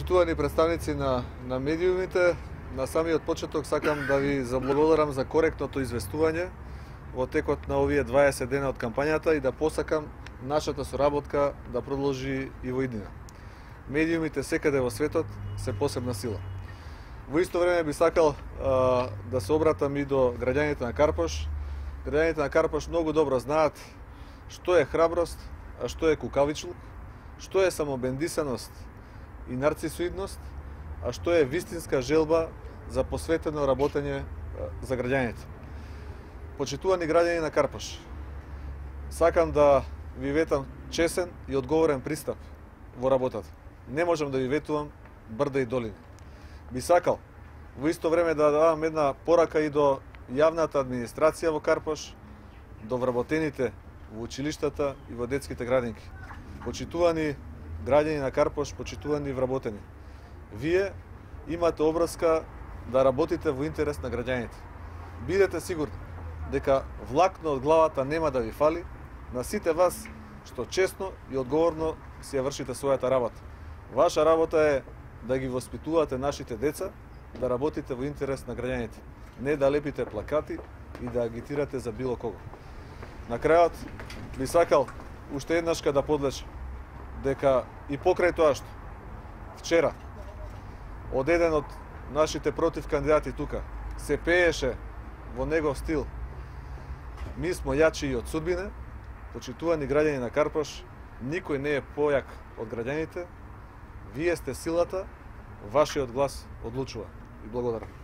Почитувани представници на медиумите, на самиот почеток сакам да ви заблагодарам за коректното известување во текот на овие 20 дена од кампањата и да посакам нашата соработка да продолжи и во иднина. Медиумите секаде во светот се посебна сила. Во исто време би сакал да се обратам и до граѓаните на Карпош. Граѓаните на Карпош многу добро знаат што е храброст, а што е кукавичлук, што е самобендисаност и нарцисоидност, а што е вистинска желба за посветено работење за граѓаните. Почитувани граѓани на Карпош, сакам да ви ветам чесен и одговорен пристап во работата. Не можам да ви ветувам брда и долини. Би сакал во исто време да давам една порака и до јавната администрација во Карпош, до вработените во училиштата и во детските градинки. Почитувани граѓани на Карпош, почитувани вработени, вие имате обврска да работите во интерес на граѓаните. Бидете сигурни дека влакно од главата нема да ви фали на сите вас што честно и одговорно си ја вршите својата работа. Ваша работа е да ги воспитувате нашите деца, да работите во интерес на граѓаните, не да лепите плакати и да агитирате за било кого. На крајот би сакал уште еднашка да подлечам дека и покрај тоа што вчера од еден од нашите против кандидати тука се пееше во негов стил "Ми смо јачи и од судбине", почитувани граѓани на Карпош, никој не е појак од граѓаните, вие сте силата, вашиот глас одлучува. И благодарам.